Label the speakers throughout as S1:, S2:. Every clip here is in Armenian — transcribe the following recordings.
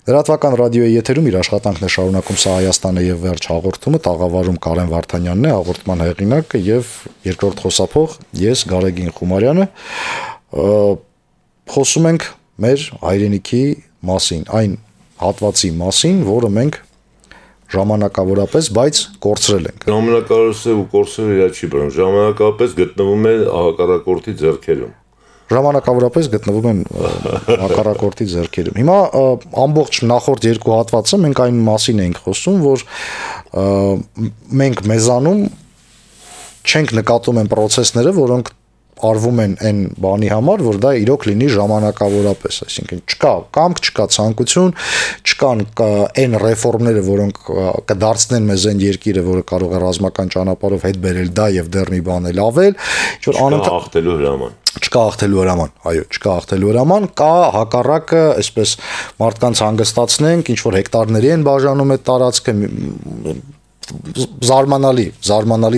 S1: Լրատվական ռադիոյի եթերում իր աշխատանքն է շարունակում «Սա Հայաստան է» եւ «Վերջ» հաղորդումը, տաղավարում Կարեն Վարդանյանն է, հաղորդման հեղինակը եւ երկրորդ խոսափող ես Գարեգին Խումարյանը։ Խոսում ենք մեր հայրենիքի մասին, այն հատվածի մասին, որը մենք ժամանակավորապես, բայց կորցրել ենք։
S2: Ժամանակավորապես ու կորցրել իրար չի բռնում, ժամանակավորապես գտնվում է հակառակորդի ձեռքերում։
S1: Ժամանակավորապես գտնվում են հակառակորդի ձեռքերում։ Հիմա ամբողջ նախորդ երկու հատվածը մենք այն մասին էինք խոսում, որ մենք մեզանում չենք նկատում այն process-ները, որոնք արվում են այն բանի համար, որ դա իրոք լինի ժամանակավորապես, այսինքն չկա կամք, չկա ցանկություն, չկան այն ռեֆորմները, որոնք կդարձնեն մեզ այն երկիրը, որը կարող է ռազմական ճանապարհով հետ բերել դա եւ դեռ մի բան էլ ավել, ինչ որ
S2: անընդհատ հրաման
S1: չկա ախտելու հրաման, այո, չկա ախտելու հրաման, կա հակառակը, այսպես մարդկանց հանգստացնենք, ինչ որ հեկտարների են բաժանում այդ տարածքը,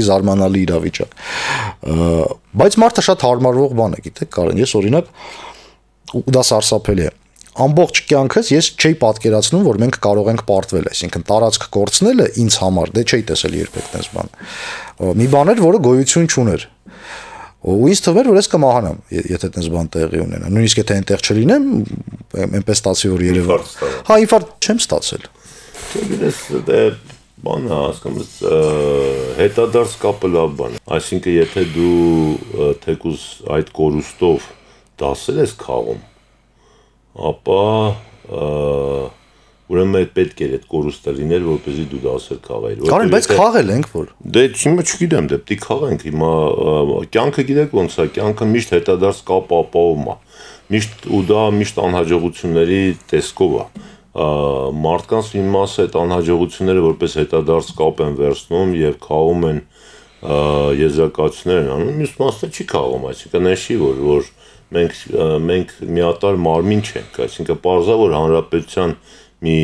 S1: զարմանալի իրավիճակ։ Բայց մարդը շատ հարմարվող բան է, գիտեք, Կարեն, ես օրինակ ու դա սարսափելի է։ Ամբողջ կյանքս ես չէի պատկերացնում, որ մենք կարող ենք պարտվել, այսինքն տարածք կորցնելը ինձ համար, դե չէի տեսել երբեք այդպես բան։ Մի բան էր, որը գոյություն չուներ։ Ու ինձ թվում էր, որ ես կմահանամ, եթե այդպես բան տեղի ունենա։ Նույնիսկ եթե այնտեղ չլինեմ, այնպես ստացի, որ երևի։ Հա, ինֆարկտ չեմ ստացել։
S2: Դե բանը հասկանում հետադարձ կապը լավ բան է։ Այսինքն եթե դու թեկուզ այդ կորուստով դասել ես խաղում, ապա ուրեմն պետք է այդ կորուստը լիներ, որպեսզի դու դասեր խաղայիր։
S1: Կարեն, բայց խաղել ենք որ։
S2: Դե հիմա չգիտեմ, դե պիտի խաղենք, հիմա կյանքը գիտեք ոնց է, կյանքը միշտ հետադարձ կապ ապահովում է։ Միշտ ու դա միշտ անհաջողությունների տեսքով է։ Մարդկանց մի մասը այդ անհաջողությունները որպես հետադարձ կապ են վերցնում եւ խաղում են եզրակացություններ են անում, մյուս մասը չի խաղում, այսինքն նշի որ մենք միատար մարմին չենք, այսինքն պարզա որ հանրապետության մի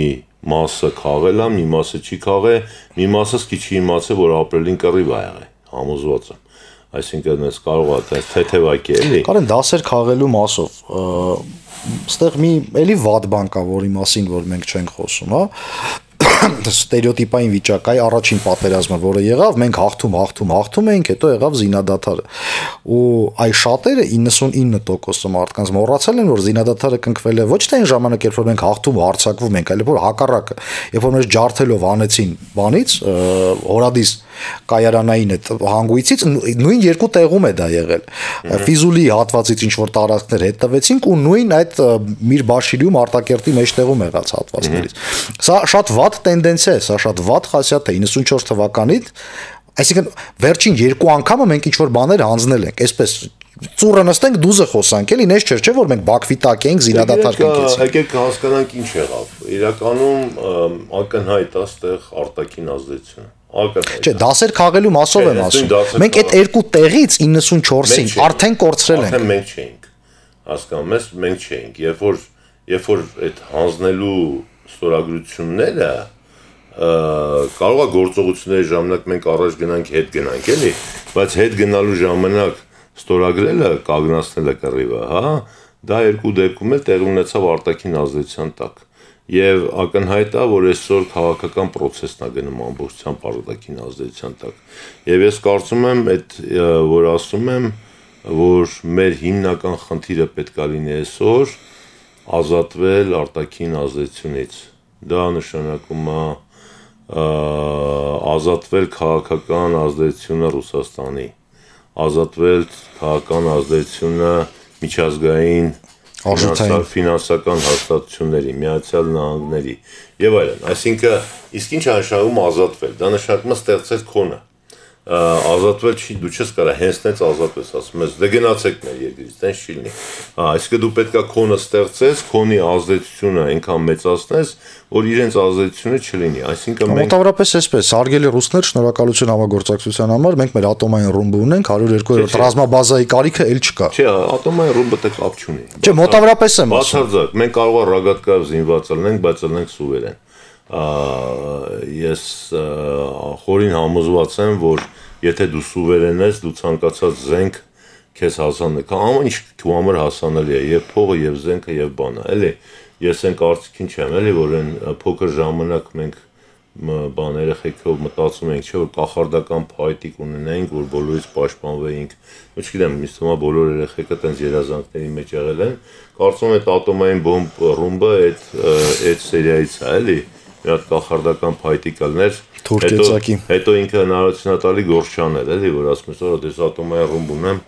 S2: մասը խաղել է, մի մասը չի խաղել, մի մասը սկի չի իմացել, որ ապրելին կռիվ ա եղել, համոզված եմ։ Այսինքն ես կարող է թեթևակի էլի։
S1: Կարեն դասեր խաղելու մասով ստեղ մի էլի վատ բան կա, որի մասին որ մենք չենք խոսում, հա։ Ստերեոտիպային վիճակ է, առաջին պատերազմը, որը եղավ, մենք հաղթում էինք, հետո եղավ զինադադարը։ Ու այ շատերը 99% մարդկանց մոռացել են, որ զինադադարը կնքվել է ոչ թե այն ժամանակ, երբ որ մենք հաղթում հարձակվում ենք, այլ որ հակառակը, երբ որ մեզ ջարդելով անեցին բանից, հորադիս կայարանային այդ հանգույցից նույն երկու տեղում է դա եղել։ Ֆիզուլի հատվածից ինչ որ տարածքներ հետ տվեցինք ու նույն այդ Միրբաշիրիում Արտակերտի մեջտեղում եղած հատվածներից։ Սա շատ վատ տենդենսիա է, սա շատ վատ խասյատ է 94 թվականից, այսինքն վերջին երկու անգամը մենք ինչ որ բաներ հանձնել ենք, այսպես ծուռը նստենք դուզը խոսանք, էլի նես չէր, չէ՞ որ մենք Բաքվի տակ էինք զինադադար կնքեցինք։
S2: Եկեք հասկանանք ինչ եղավ։ Իրականում ակնհայտ է այստեղ արտաքին ազդեցությունը։
S1: Չէ, դասեր խաղելու մասով եմ ասում։ Մենք այդ երկու տեղից 94-ին արդեն կորցրել ենք։
S2: Արդեն մենք չէինք։ Հասկանում ես, մենք չէինք։ Երբ որ այդ հանձնելու ստորագրությունները կարող է գործողությունների ժամանակ մենք առաջ գնանք, հետ գնանք, էլի, բայց հետ գնալու ժամանակ ստորագրելը, կանգնացնելը կռիվը, հա, դա երկու դեպքում էլ տեղի ունեցավ արտաքին ազդեցության տակ։ Եվ ակնհայտ է, որ այսօր քաղաքական process-ն է գնում ամբողջությամբ արտաքին ազդեցության տակ։ Եվ ես կարծում եմ, որ ասում եմ, որ մեր հիմնական խնդիրը պետք է լինի այսօր ազատվել արտաքին ազդեցությունից։ Դա նշանակում է ազատվել քաղաքական ազդեցությունը Ռուսաստանի, ազատվել քաղաքական ազդեցությունը միջազգային ֆինանսական հաստատությունների, Միացյալ Նահանգների եւ այլն։ Այսինքն, իսկ ինչ նշանակում ազատվել։ Դա նշանակում է ստեղծել քոնը։ Ազատվել չի, դու չես կարա հենցնեց ազատվես, ասում ես, դե գնացեք մեր երկրից, տենց չի լինի։ Այսինքն դու պետքա քոնը ստեղծես, քոնի ազդեցությունը այնքան մեծացնես, որ իրենց ազդեցությունը չլինի։ Այսինքն մենք
S1: մոտավորապես այսպես, հարգելի ռուսներ, շնորհակալություն համագործակցության համար, մենք մեր ատոմային ռումբը ունենք, 102-րդ ռազմաբազայի կարիքը էլ չկա։
S2: Չէ, ատոմային ռումբը դեռ կապ չունի։
S1: Չէ, մոտավորապես եմ ասում։
S2: Բացարձակ, մենք կարող է ռագատկայով զինված լինենք, բայց լինենք սուվերեն։ Ես խորին համոզված եմ, որ եթե դու սուվերեն ես, դու ցանկացած զենք քեզ հասանելի է, ամեն ինչ քո համար հասանելի է, եւ փողը, եւ զենքը, եւ բանը, էլի։ ես այն կարծիքին չեմ, էլի, որ այն փոքր ժամանակ մենք բան երեխեքով մտածում ենք, չէ՞ որ կախարդական փայտիկ ունենայինք, որ բոլորից պաշտպանվեինք։ Չգիտեմ, ինձ թվում է բոլոր երեխեքը տենց երազանքների մեջ եղել են։ Կարծում եմ այդ ատոմային բոմբ ռումբը այդ սերիայից է, էլի։ Մի հատ կախարդական փայտիկ ալներ, հետո ինքը հնարավորություն տալի գործչանել, էլի, որ ասում ես, որ դες ատոմային ռումբ ունեմ,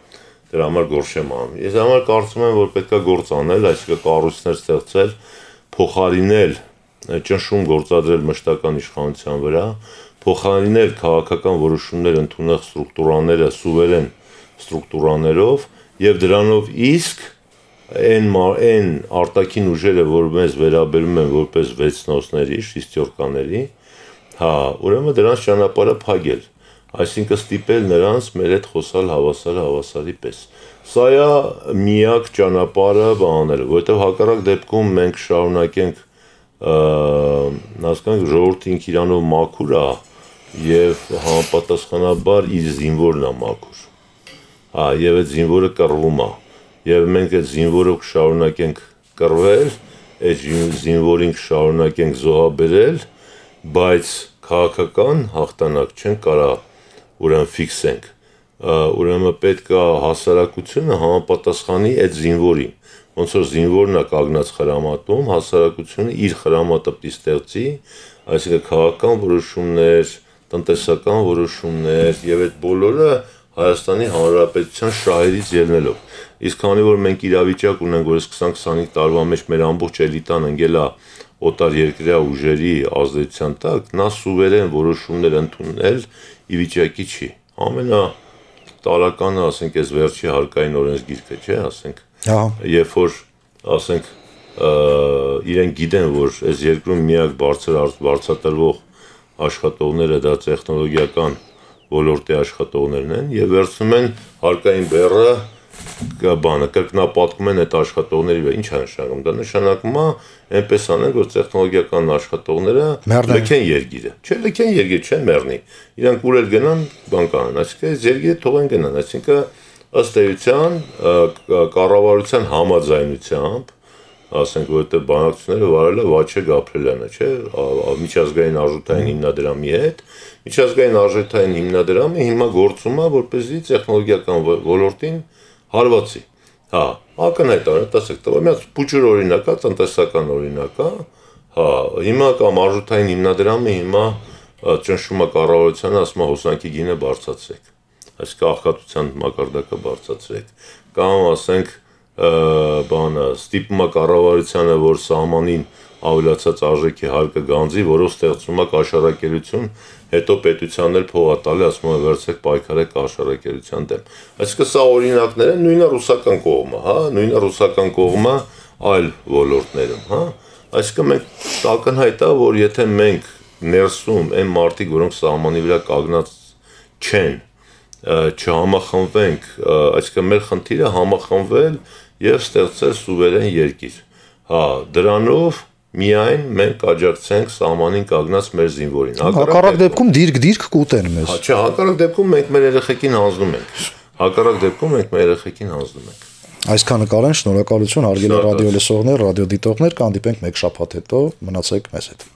S2: դրա համար գործ չեմ անում։ Ես համար կարծում եմ, որ պետքա գործ անել, այսինքն կառույցներ ստեղծել, փոխարինել ճնշում գործադրել մշտական իշխանության վրա, փոխարինել քաղաքական որոշումներ ընդունող ստրուկտուրաները սուվերեն ստրուկտուրաներով եւ դրանով իսկ այն արտաքին ուժերը, որ մեզ վերաբերում են որպես վեցնոսների, շիստյորկաների, ուրեմն դրանց ճանապարհը փակել, այսինքն ստիպել նրանց մեր հետ խոսալ հավասարի պես։ Սա է միակ ճանապարհը բաները, որովհետեւ հակառակ դեպքում մենք շարունակենք հասկանանք ժողովրդին իրանով մաքուր է եւ համապատասխանաբար իր զինվորն է մաքուր։ Եվ այդ զինվորը կռվում է։ Եվ մենք այդ զինվորը կշարունակենք կռվել, այդ զինվորին կշարունակենք զոհաբերել, բայց քաղաքական հաղթանակ չեն կարա ուրեմն ֆիքսենք։ Ուրեմն պետք է հասարակությունը համապատասխանի այդ զինվորին։ Ոնց որ զինվորն է կանգնած խրամատում, հասարակությունը իր խրամատը պիտի ստեղծի, այսինքն քաղաքական որոշումներ, տնտեսական որոշումներ եւ այդ բոլորը Հայաստանի Հանրապետության շահերից ելնելով։ Իսկ քանի որ մենք իրավիճակ ունենք, որ 20-25 տարվա մեջ մեր ամբողջ էլիտան ընկել է օտար երկրյա ուժերի ազդեցության տակ, նա սուվերեն որոշումներ ընդունել ի վիճակի չի։ Ամենատարականը, ասենք, այս վերջի հարկային օրենսգիրքը, չէ, ասենք, երբ որ ասենք իրենք գիտեն, որ այս երկրում միակ բարձրատրվող աշխատողները դա տեխնոլոգիական ոլորտի աշխատողներն են եւ վերցնում են հարկային բեռը կրկնապատկում են այդ աշխատողների վրա։ Ինչ է նշանակում։ Դա նշանակում է այնպես անել, որ տեխնոլոգիական աշխատողները լքեն երկիրը։ Չէ, լքեն երկիրը, չեն մեռնի։ Իրանք ուր էլ գնան, բան կանեն, այսինքն այս երկիրը թողեն գնան, այսինքն ըստ էության կառավարության համաձայնությամբ, ասենք, որովհետև բանակցությունները վարելը Վաչե Գաբրելյանը, չէ, միջազգային արժութային հիմնադրամի հետ, միջազգային արժութային հիմնադրամը հիմա գործում է, որպեսզի տեխնոլոգիական ոլորտին հարվածի։ Ակնհայտ է, տեսեք, տվա մի հատ փուչուր օրինակ է, տնտեսական օրինակ է, հիմա կամ արժութային հիմնադրամը հիմա ճնշում է կառավարությանը, ասում է հոսանքի գինը բարձրացրեք, այսինքն աղքատության մակարդակը բարձրացրեք, կամ ասենք բանը ստիպում է կառավարությանը, որ սահմանին ավելացած արժեքի հարկը գանձի, որով ստեղծում է կաշառակերություն, հետո պետությանն էլ փող է տալի, ասում է վերցրեք պայքարեք կաշառակերության դեմ։ Այսինքն սա օրինակներ են, նույնը ռուսական կողմը, նույնը ռուսական կողմը այլ ոլորտներում, Այսինքն մենք ակնհայտ է, որ եթե մենք ներսում այն մարդիկ, որոնք սահմանի վրա կանգնած չեն, չհամախմբվենք, այսինքն մեր խնդիրը համախմբվել եւ ստեղծել սուվերեն երկիր։ Դրանով միայն մենք աջակցենք սահմանին կանգնած մեր զինվորին։
S1: Հակառակ դեպքում դիրք կուտեն մեզ։
S2: Չէ, հակառակ դեպքում մենք մեր երեխեքին հանձնում ենք։ Հակառակ դեպքում մենք մեր երեխեքին հանձնում ենք։
S1: Այսքանը կարեն, շնորհակալություն, հարգելի ռադիո լսողներ, ռադիո դիտողներ, կհանդիպենք մեկ շաբաթ հետո, մնացեք մեզ հետ։